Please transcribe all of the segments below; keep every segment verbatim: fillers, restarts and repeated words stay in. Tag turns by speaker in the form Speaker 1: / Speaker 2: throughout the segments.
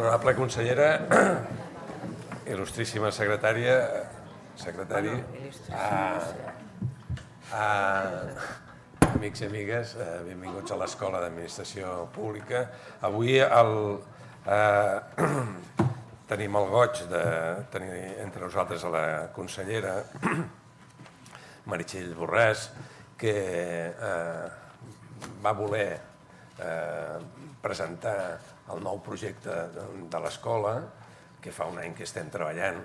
Speaker 1: Honorable consellera, il·lustríssima secretària, secretari, amics i amigues, benvinguts a l'Escola d'Administració Pública. Avui tenim el goig de tenir entre nosaltres a la consellera Meritxell Borràs, que va voler presentar el nou projecte de l'escola, que fa un any que estem treballant,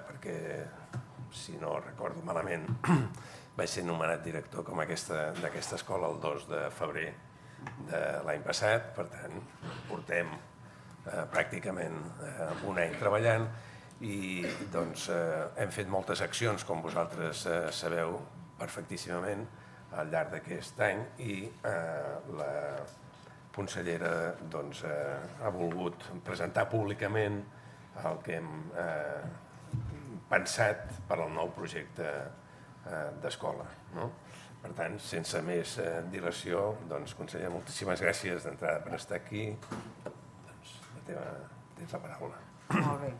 Speaker 1: perquè, si no recordo malament, vaig ser nomenat director d'aquesta escola el dos de febrer de l'any passat. Per tant, portem pràcticament un any treballant i hem fet moltes accions, com vosaltres sabeu perfectíssimament, al llarg d'aquest any, i la consellera ha volgut presentar públicament el que hem pensat per al nou projecte d'escola. Per tant, sense més dilació, consellera, moltíssimes gràcies d'entrada per estar aquí. Tens la paraula.
Speaker 2: Molt bé.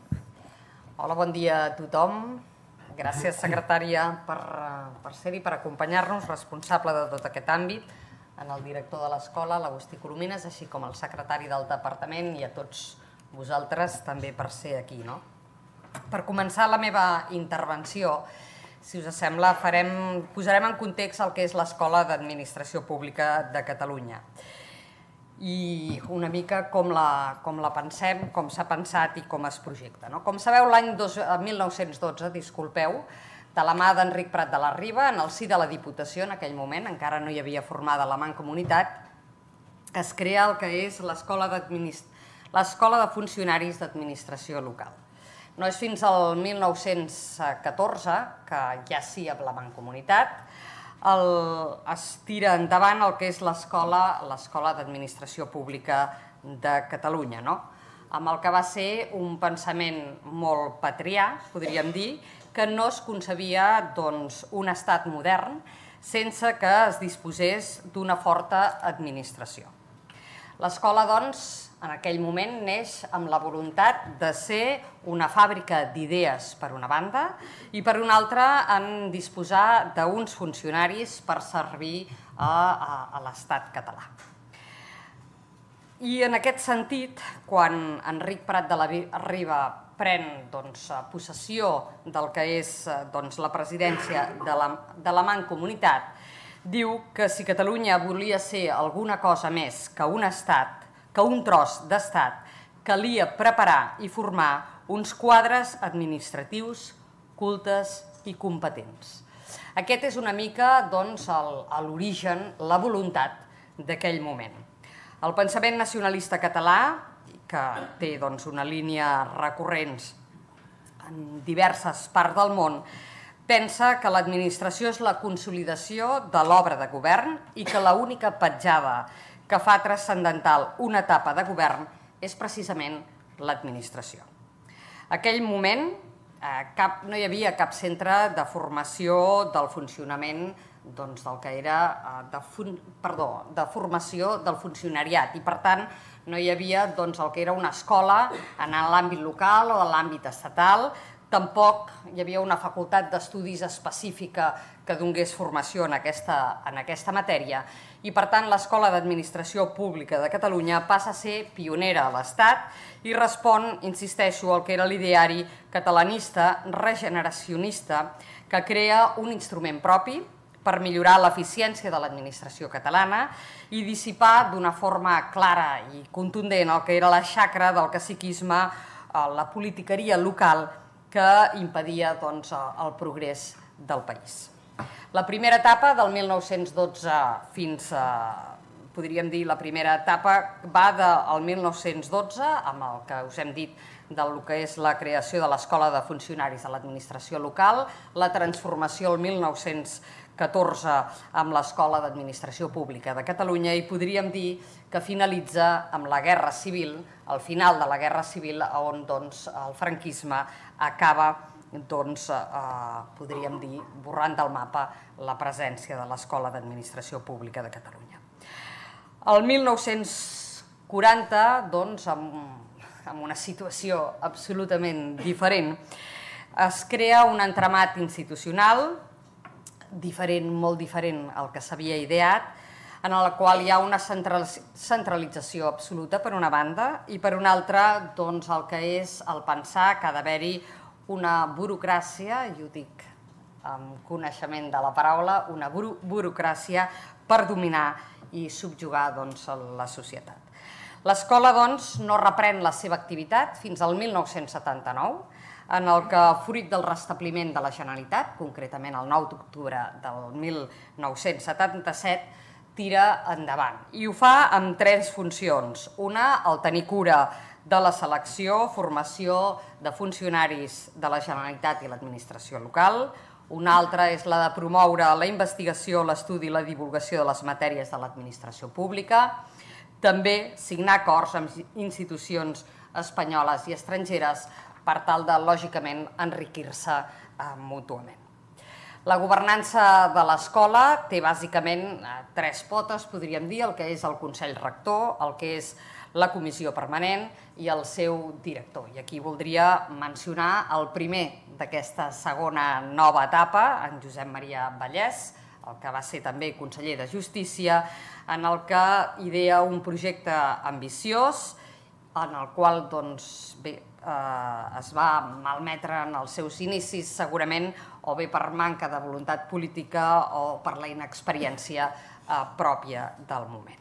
Speaker 2: Hola, bon dia a tothom. Gràcies, secretària, per ser-hi, per acompanyar-nos, responsable de tot aquest àmbit, en el director de l'escola, l'Agustí Coromines, així com el secretari del departament i a tots vosaltres també per ser aquí. Per començar la meva intervenció, si us sembla, posarem en context el que és l'Escola d'Administració Pública de Catalunya i una mica com la pensem, com s'ha pensat i com es projecta. Com sabeu, l'any mil nou-cents dotze, disculpeu, de la mà d'Enric Prat de la Riba, en el si de la Diputació, en aquell moment, encara no hi havia formada la Mancomunitat, es crea el que és l'Escola de Funcionaris d'Administració Local. No és fins al mil nou-cents catorze, que ja sí amb la Mancomunitat, es tira endavant el que és l'Escola d'Administració Pública de Catalunya, amb el que va ser un pensament molt patrià, podríem dir, que no es concebia un estat modern sense que es disposés d'una forta administració. L'escola, doncs, en aquell moment neix amb la voluntat de ser una fàbrica d'idees, per una banda, i per una altra en disposar d'uns funcionaris per servir a l'estat català. I en aquest sentit, quan Enric Prat de la Riba pren possessió del que és la presidència de la Mancomunitat, diu que si Catalunya volia ser alguna cosa més que un estat, que un tros d'estat, calia preparar i formar uns quadres administratius cultes i competents. Aquest és una mica l'origen, la voluntat d'aquell moment. El pensament nacionalista català, que té una línia recurrent en diverses parts del món, pensa que l'administració és la consolidació de l'obra de govern i que l'única petjada que fa transcendental una etapa de govern és precisament l'administració. En aquell moment no hi havia cap centre de formació del funcionament del que era, perdó, de formació del funcionariat i, per tant, no hi havia el que era una escola en l'àmbit local o en l'àmbit estatal. Tampoc hi havia una facultat d'estudis específica que donés formació en aquesta matèria i, per tant, l'Escola d'Administració Pública de Catalunya passa a ser pionera a l'Estat i respon, insisteixo, al que era l'ideari catalanista regeneracionista que crea un instrument propi per millorar l'eficiència de l'administració catalana i dissipar d'una forma clara i contundent el que era la xacra del caciquisme, la politiqueria local que impedia el progrés del país. La primera etapa, del mil nou-cents dotze fins a, podríem dir, la primera etapa va del mil nou-cents dotze, amb el que us hem dit del que és la creació de l'Escola de Funcionaris de l'Administració Local, la transformació el mil nou-cents catorze amb l'Escola d'Administració Pública de Catalunya i podríem dir que finalitza amb la Guerra Civil, al final de la Guerra Civil, on el franquisme acaba, podríem dir, borrant del mapa la presència de l'Escola d'Administració Pública de Catalunya. El mil nou-cents quaranta, doncs, amb en una situació absolutament diferent, es crea un entramat institucional diferent, molt diferent al que s'havia ideat, en el qual hi ha una centralització absoluta per una banda i per una altra doncs, el que és el pensar que ha d'haver-hi una burocràcia, i ho dic amb coneixement de la paraula, una buro burocràcia per dominar i subjugar doncs, la societat. L'escola doncs, no reprèn la seva activitat fins al mil nou-cents setanta-nou, en el que, fruit del restabliment de la Generalitat, concretament el nou d'octubre del mil nou-cents setanta-set, tira endavant. I ho fa amb tres funcions. Una, el tenir cura de la selecció, formació de funcionaris de la Generalitat i l'administració local. Una altra és la de promoure la investigació, l'estudi i la divulgació de les matèries de l'administració pública. També signar acords amb institucions espanyoles i estrangeres per tal de, lògicament, enriquir-se mútuament. La governança de l'escola té bàsicament tres potes, podríem dir, el que és el Consell Rector, el que és la Comissió Permanent i el seu director. I aquí voldria mencionar el primer d'aquesta segona nova etapa, en Josep Maria Vallès, el que va ser també conseller de Justícia, en el que idea un projecte ambiciós, en el qual doncs, bé, eh, es va malmetre en els seus inicis, segurament, o bé per manca de voluntat política o per la inexperiència eh, pròpia del moment.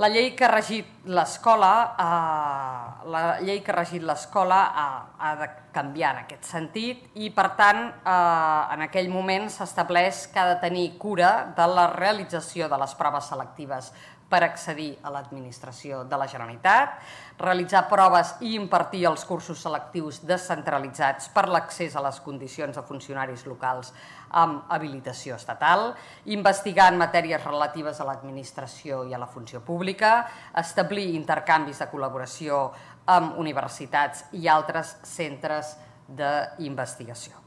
Speaker 2: La llei que ha regit l'escola eh, la llei que ha regit l'escola ha, ha de canviar en aquest sentit i, per tant, eh, en aquell moment s'estableix que ha de tenir cura de la realització de les proves selectives per accedir a l'administració de la Generalitat, realitzar proves i impartir els cursos selectius descentralitzats per l'accés a les condicions de funcionaris locals amb habilitació estatal, investigar en matèries relatives a l'administració i a la funció pública, establir intercanvis de col·laboració amb universitats i altres centres d'investigació.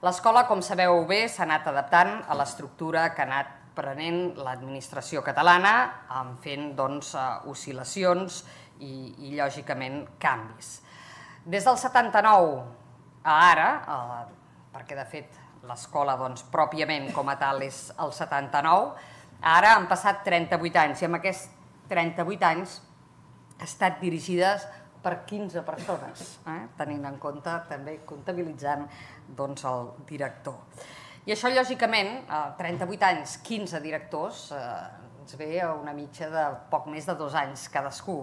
Speaker 2: L'escola, com sabeu bé, s'ha anat adaptant a l'estructura que ha anat prenent l'administració catalana, fent doncs, oscil·lacions i, i, lògicament, canvis. Des del setanta-nou a ara, eh, perquè de fet l'escola doncs, pròpiament com a tal és el setanta-nou, ara han passat trenta-vuit anys i amb aquests trenta-vuit anys ha estat dirigides per quinze persones, eh? tenint en compte també comptabilitzant doncs, el director. I això, lògicament, trenta-vuit anys, quinze directors, ens ve a una mitja de poc més de dos anys cadascú.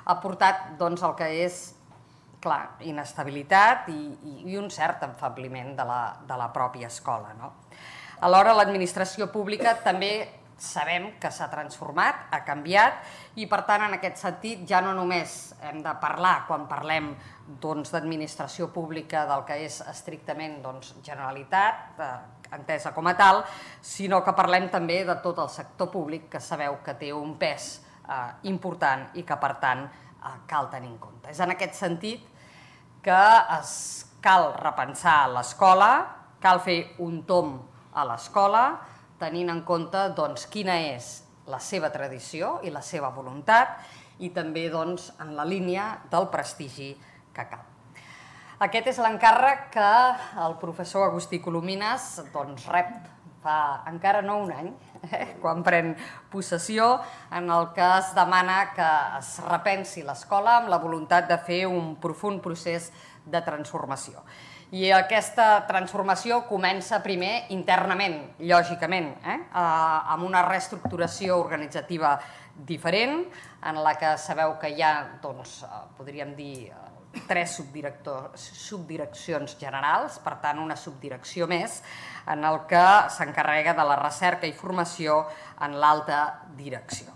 Speaker 2: Ha portat doncs, el que és, clar, inestabilitat i, i, i un cert enfebliment de la, de la pròpia escola. No? Alhora, l'administració pública també sabem que s'ha transformat, ha canviat, i per tant, en aquest sentit, ja no només hem de parlar, quan parlem doncs, d'administració pública, del que és estrictament doncs, Generalitat, eh, entesa com a tal, sinó que parlem també de tot el sector públic, que sabeu que té un pes eh, important i que, per tant, eh, cal tenir en compte. És en aquest sentit que es cal repensar l'escola, cal fer un tomb a l'escola, tenint en compte doncs, quina és la seva tradició i la seva voluntat i també doncs, en la línia del prestigi que cal. Aquest és l'encàrrec que el professor Agustí Colomines doncs, rep fa encara no un any, eh, quan pren possessió, en el que es demana que es repensi l'escola amb la voluntat de fer un profund procés de transformació. I aquesta transformació comença primer internament, lògicament, eh? amb una reestructuració organitzativa diferent, en la que sabeu que hi ha, doncs, podríem dir, tres subdireccions generals, per tant una subdirecció més, en el que s'encarrega de la recerca i formació en l'alta direcció.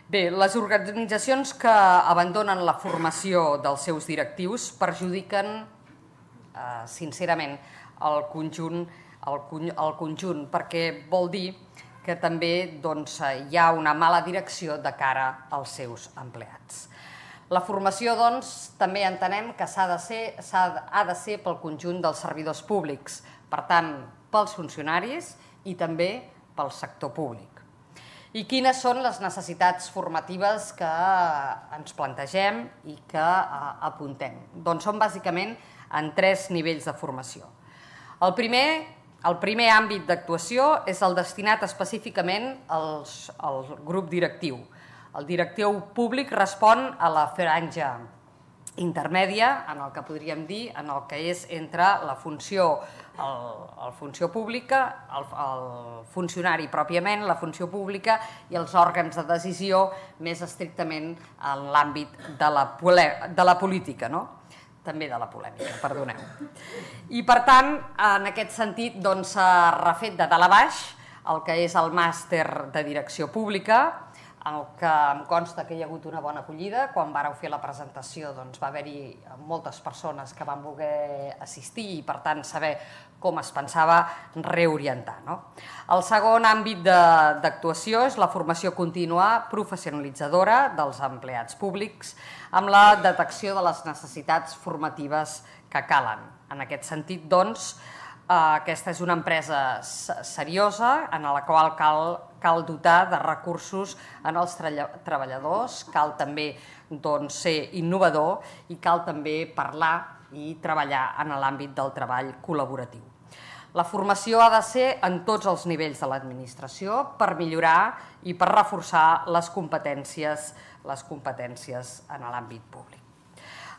Speaker 2: Bé, les organitzacions que abandonen la formació dels seus directius perjudiquen eh, sincerament el conjunt, el, el conjunt, perquè vol dir que també doncs, hi ha una mala direcció de cara als seus empleats. La formació, doncs, també entenem que s'ha de ser, ha de ser pel conjunt dels servidors públics, per tant, pels funcionaris i també pel sector públic. I quines són les necessitats formatives que ens plantegem i que apuntem? Doncs són bàsicament en tres nivells de formació. El primer, el primer àmbit d'actuació és el destinat específicament als, al grup directiu. El directiu públic respon a la franja intermèdia, en el que podríem dir, en el que és entre la funció, el, el funció pública, el, el funcionari pròpiament, la funció pública i els òrgans de decisió més estrictament en l'àmbit de, la, de la política, no? També de la polèmica, perdoneu. I per tant, en aquest sentit, doncs, s'ha refet de dalt a baix el que és el màster de direcció pública, en el que em consta que hi ha hagut una bona acollida. Quan vàreu fer la presentació doncs, va haver-hi moltes persones que van voler assistir i, per tant, saber com es pensava reorientar. No? El segon àmbit d'actuació és la formació contínua professionalitzadora dels empleats públics amb la detecció de les necessitats formatives que calen. En aquest sentit, doncs, aquesta és una empresa seriosa en la qual cal, cal dotar de recursos en els treballadors, cal també doncs, ser innovador i cal també parlar i treballar en l'àmbit del treball col·laboratiu. La formació ha de ser en tots els nivells de l'administració per millorar i per reforçar les competències, les competències en l'àmbit públic.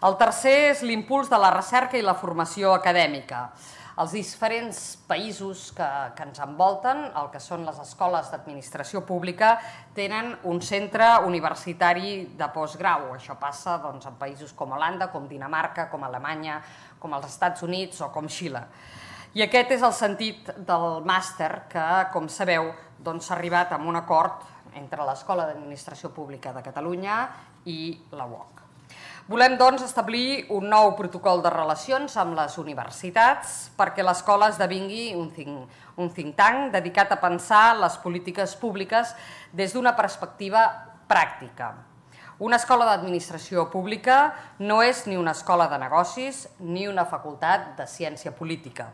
Speaker 2: El tercer és l'impuls de la recerca i la formació acadèmica. Els diferents països que, que ens envolten, el que són les escoles d'administració pública, tenen un centre universitari de postgrau. Això passa doncs, en països com Holanda, com Dinamarca, com Alemanya, com els Estats Units o com Xile. I aquest és el sentit del màster que, com sabeu, doncs, s'ha arribat a un acord entre l'Escola d'Administració Pública de Catalunya i la U O C. Volem, doncs, establir un nou protocol de relacions amb les universitats perquè l'escola esdevingui un think, un think tank dedicat a pensar les polítiques públiques des d'una perspectiva pràctica. Una escola d'administració pública no és ni una escola de negocis ni una facultat de ciència política.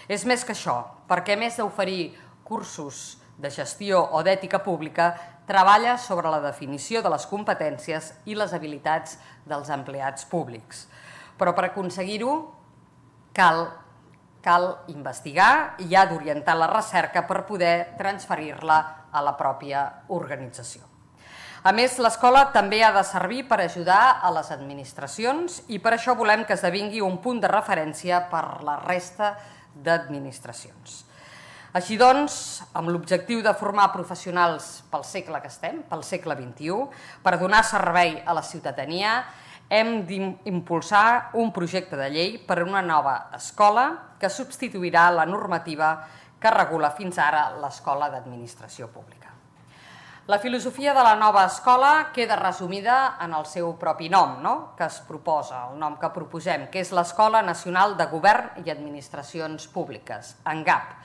Speaker 2: És més que això, perquè a més d'oferir cursos de gestió o d'ètica pública, treballa sobre la definició de les competències i les habilitats dels empleats públics. Però per aconseguir-ho cal, cal investigar i ha d'orientar la recerca per poder transferir-la a la pròpia organització. A més, l'escola també ha de servir per ajudar a les administracions i per això volem que esdevingui un punt de referència per la resta d'administracions. Així doncs, amb l'objectiu de formar professionals pel segle que estem, pel segle vint-i-u, per donar servei a la ciutadania, hem d'impulsar un projecte de llei per a una nova escola que substituirà la normativa que regula fins ara l'Escola d'Administració Pública. La filosofia de la nova escola queda resumida en el seu propi nom, no? Que es proposa, el nom que proposem, que és l'Escola Nacional de Govern i Administracions Públiques, ENGAP,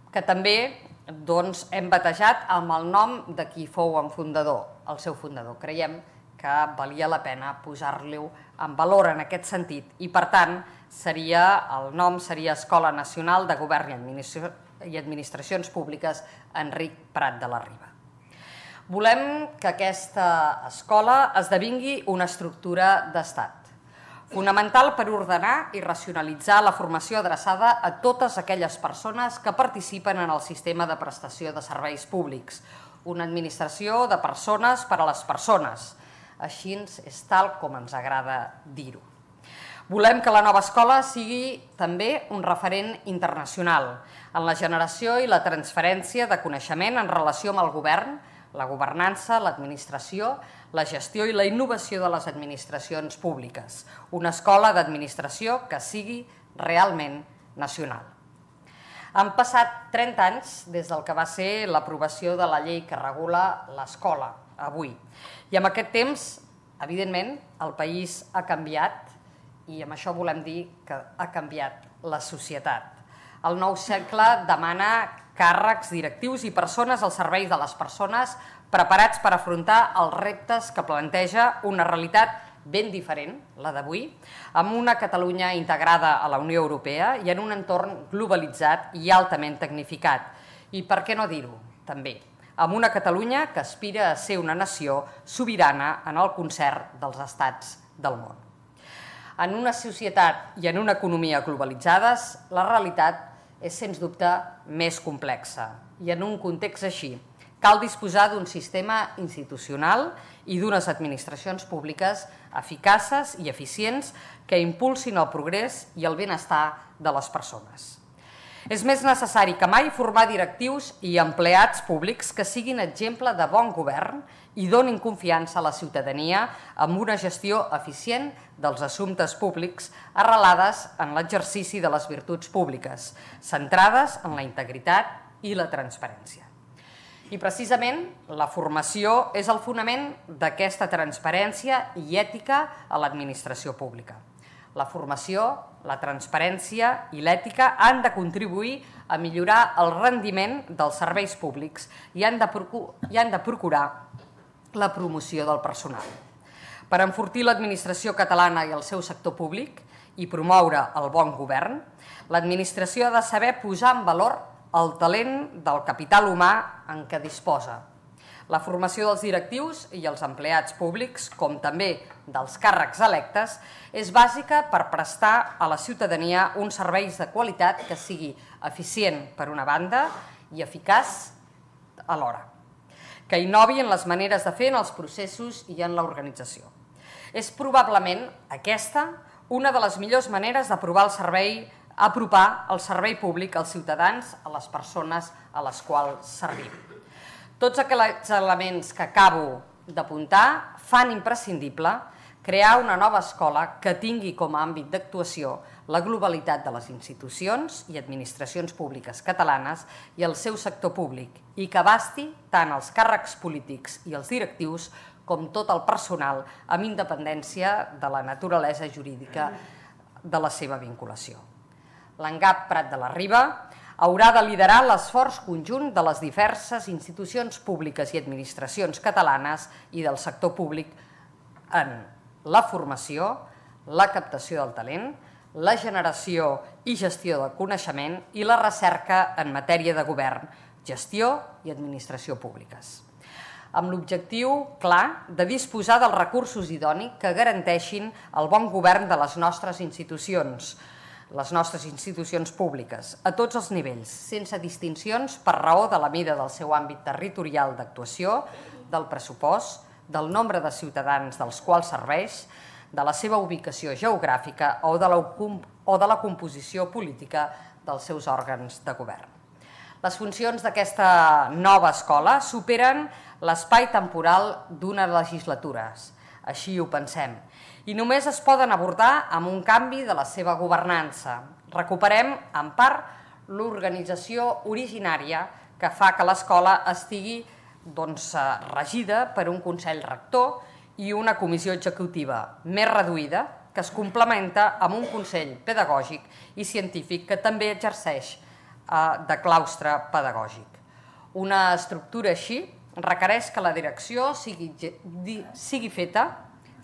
Speaker 2: que també doncs, hem batejat amb el nom de qui fou en fundador, el seu fundador. Creiem que valia la pena posar-lo en valor en aquest sentit i, per tant, seria, el nom seria Escola Nacional de Govern i, Administració, i Administracions Públiques Enric Prat de la Riba. Volem que aquesta escola esdevingui una estructura d'estat, fonamental per ordenar i racionalitzar la formació adreçada a totes aquelles persones que participen en el sistema de prestació de serveis públics, una administració de persones per a les persones. Així és tal com ens agrada dir-ho. Volem que la nova escola sigui també un referent internacional en la generació i la transferència de coneixement en relació amb el govern, la governança, l'administració, la gestió i la innovació de les administracions públiques. Una escola d'administració que sigui realment nacional. Han passat trenta anys des del que va ser l'aprovació de la llei que regula l'escola, avui. I amb aquest temps, evidentment, el país ha canviat i amb això volem dir que ha canviat la societat. El nou segle demana càrrecs directius i persones al servei de les persones preparats per afrontar els reptes que planteja una realitat ben diferent, la d'avui, amb una Catalunya integrada a la Unió Europea i en un entorn globalitzat i altament tecnificat. I per què no dir-ho, també, amb una Catalunya que aspira a ser una nació sobirana en el concert dels estats del món. En una societat i en una economia globalitzades, la realitat és, sens dubte, més complexa. I en un context així, cal disposar d'un sistema institucional i d'unes administracions públiques eficaces i eficients que impulsin el progrés i el benestar de les persones. És més necessari que mai formar directius i empleats públics que siguin exemple de bon govern i donin confiança a la ciutadania amb una gestió eficient dels assumptes públics arrelades en l'exercici de les virtuts públiques, centrades en la integritat i la transparència. I precisament la formació és el fonament d'aquesta transparència i ètica a l'administració pública. La formació, la transparència i l'ètica han de contribuir a millorar el rendiment dels serveis públics i han de procurar la promoció del personal. Per enfortir l'administració catalana i el seu sector públic i promoure el bon govern, l'administració ha de saber posar en valor el talent del capital humà en què disposa. La formació dels directius i els empleats públics, com també dels càrrecs electes, és bàsica per prestar a la ciutadania uns serveis de qualitat que sigui eficient per una banda i eficaç alhora, que innovi en les maneres de fer en els processos i en l'organització. És probablement aquesta una de les millors maneres d'aprovar el servei, apropar el servei públic als ciutadans, a les persones a les quals servim. Tots aquells elements que acabo d'apuntar fan imprescindible crear una nova escola que tingui com a àmbit d'actuació la globalitat de les institucions i administracions públiques catalanes i el seu sector públic i que abasti tant els càrrecs polítics i els directius com tot el personal amb independència de la naturalesa jurídica de la seva vinculació. L'ENGAP Prat de la Riba haurà de liderar l'esforç conjunt de les diverses institucions públiques i administracions catalanes i del sector públic en la formació, la captació del talent, la generació i gestió del coneixement i la recerca en matèria de govern, gestió i administració públiques, amb l'objectiu clar de disposar dels recursos idonis que garanteixin el bon govern de les nostres institucions, les nostres institucions públiques, a tots els nivells, sense distincions per raó de la mida del seu àmbit territorial d'actuació, del pressupost, del nombre de ciutadans dels quals serveix, de la seva ubicació geogràfica o de la, o de la composició política dels seus òrgans de govern. Les funcions d'aquesta nova escola superen l'espai temporal d'una legislatura, així ho pensem, i només es poden abordar amb un canvi de la seva governança. Recuperem, en part, l'organització originària que fa que l'escola estigui doncs, regida per un Consell Rector i una comissió executiva més reduïda que es complementa amb un Consell Pedagògic i Científic que també exerceix de claustre pedagògic. Una estructura així requereix que la direcció sigui, sigui feta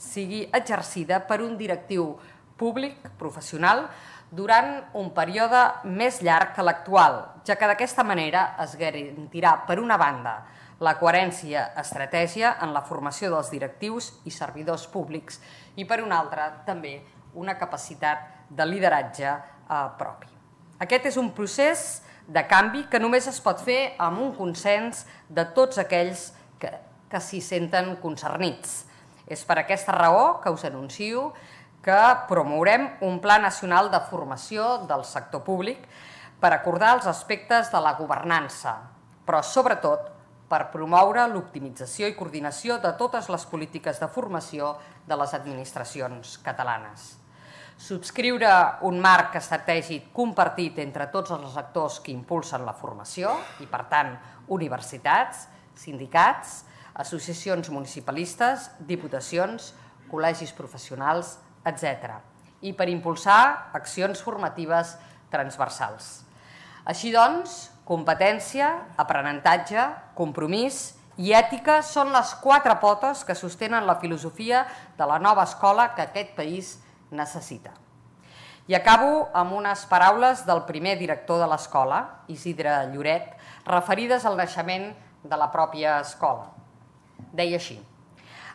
Speaker 2: sigui exercida per un directiu públic, professional, durant un període més llarg que l'actual, ja que d'aquesta manera es garantirà, per una banda, la coherència estratègia en la formació dels directius i servidors públics i, per una altra, també una capacitat de lideratge eh, propi. Aquest és un procés de canvi que només es pot fer amb un consens de tots aquells que, que s'hi senten concernits. És per aquesta raó que us anuncio que promourem un Pla Nacional de Formació del sector públic per acordar els aspectes de la governança, però sobretot per promoure l'optimització i coordinació de totes les polítiques de formació de les administracions catalanes. Subscriure un marc estratègic compartit entre tots els actors que impulsen la formació i, per tant, universitats, sindicats, associacions municipalistes, diputacions, col·legis professionals, etcètera, i per impulsar accions formatives transversals. Així doncs, competència, aprenentatge, compromís i ètica són les quatre potes que sostenen la filosofia de la nova escola que aquest país necessita. I acabo amb unes paraules del primer director de l'escola, Isidre Lloret, referides al naixement de la pròpia escola. Deia així: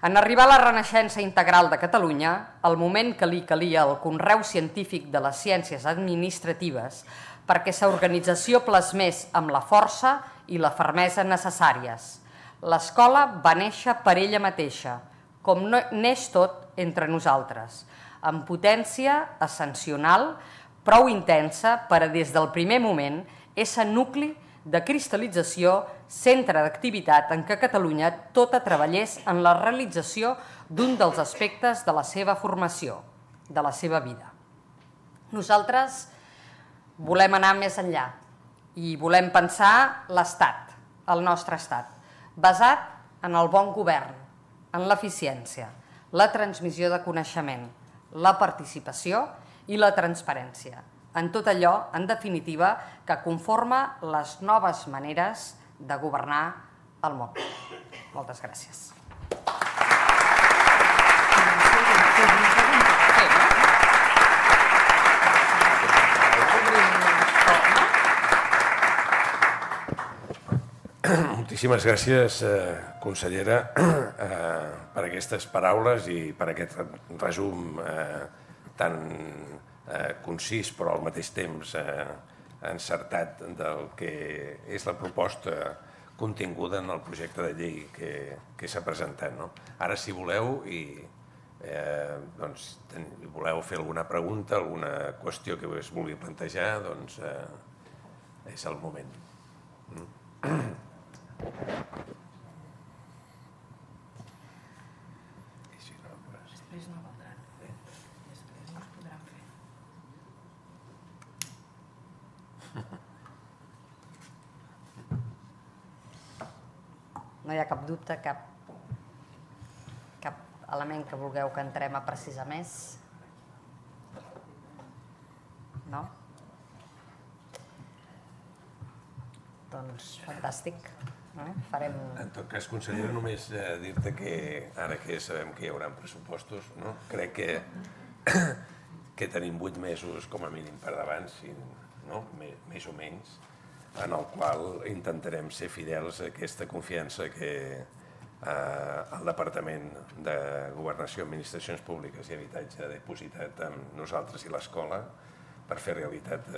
Speaker 2: en arribar a la renaixença integral de Catalunya, el moment que li calia el conreu científic de les ciències administratives perquè sa organització plasmés amb la força i la fermesa necessàries. L'escola va néixer per ella mateixa, com neix tot entre nosaltres, amb potència ascensional, prou intensa per a des del primer moment ésser nucli de cristal·lització, centre d'activitat en què Catalunya tota treballés en la realització d'un dels aspectes de la seva formació, de la seva vida. Nosaltres volem anar més enllà i volem pensar l'Estat, el nostre Estat, basat en el bon govern, en l'eficiència, la transmissió de coneixement, la participació i la transparència, en tot allò, en definitiva, que conforma les noves maneres de governar el món. Moltes gràcies.
Speaker 1: Moltíssimes gràcies, consellera, per aquestes paraules i per aquest resum tan concís però al mateix temps encertat del que és la proposta continguda en el projecte de llei que s'ha presentat. Ara, si voleu i voleu fer alguna pregunta, alguna qüestió que us vulgui plantejar, doncs és el moment.
Speaker 3: Després no valdran. Després no es podran fer.
Speaker 2: No hi ha cap dubte, cap, cap element que vulgueu que entrem a precisar més? No? Doncs fantàstic. Farem...
Speaker 1: En tot cas, consellera, només dir-te que ara que sabem que hi haurà pressupostos, crec que tenim vuit mesos com a mínim per davant, més o menys, en el qual intentarem ser fidels a aquesta confiança que el Departament de Governació, Administracions Públiques i Habitatge ha dipositat amb nosaltres i l'escola per fer realitat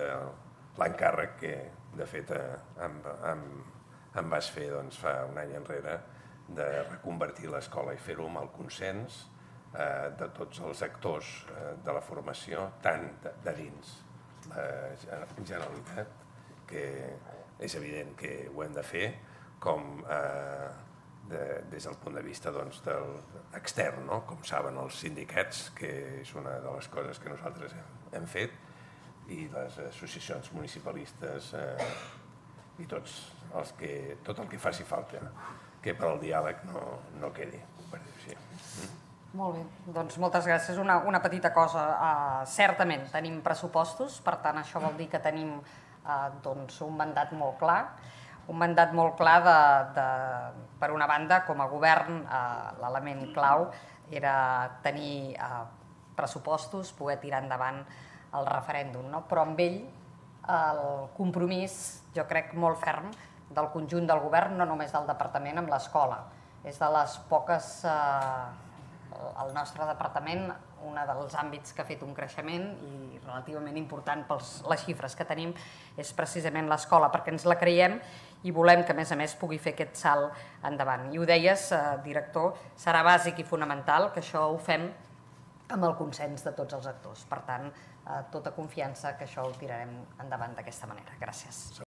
Speaker 1: l'encàrrec que, de fet, em vas fer fa un any enrere de reconvertir l'escola i fer-ho amb el consens de tots els actors de la formació, tant de dins la Generalitat, que és evident que ho hem de fer, com des del punt de vista extern, com saben els sindicats, que és una de les coses que nosaltres hem fet, i les associacions municipalistes i tot el que faci falta, que per al diàleg no quedi, per dir-ho així.
Speaker 2: Molt bé, doncs moltes gràcies. Una petita cosa, certament tenim pressupostos, per tant això vol dir que tenim un mandat molt clar, un mandat molt clar de, per una banda, com a govern, l'element clau era tenir pressupostos, poder tirar endavant el referèndum, però amb ell el compromís, jo crec, molt ferm del conjunt del govern, no només del departament, amb l'escola. És de les poques, el nostre departament, un dels àmbits que ha fet un creixement i relativament important per les xifres que tenim és precisament l'escola, perquè ens la creiem i volem que, a més a més, pugui fer aquest salt endavant. I ho deies, director, serà bàsic i fonamental que això ho fem amb el consens de tots els actors. Per tant, tota confiança que això ho tirarem endavant d'aquesta manera. Gràcies.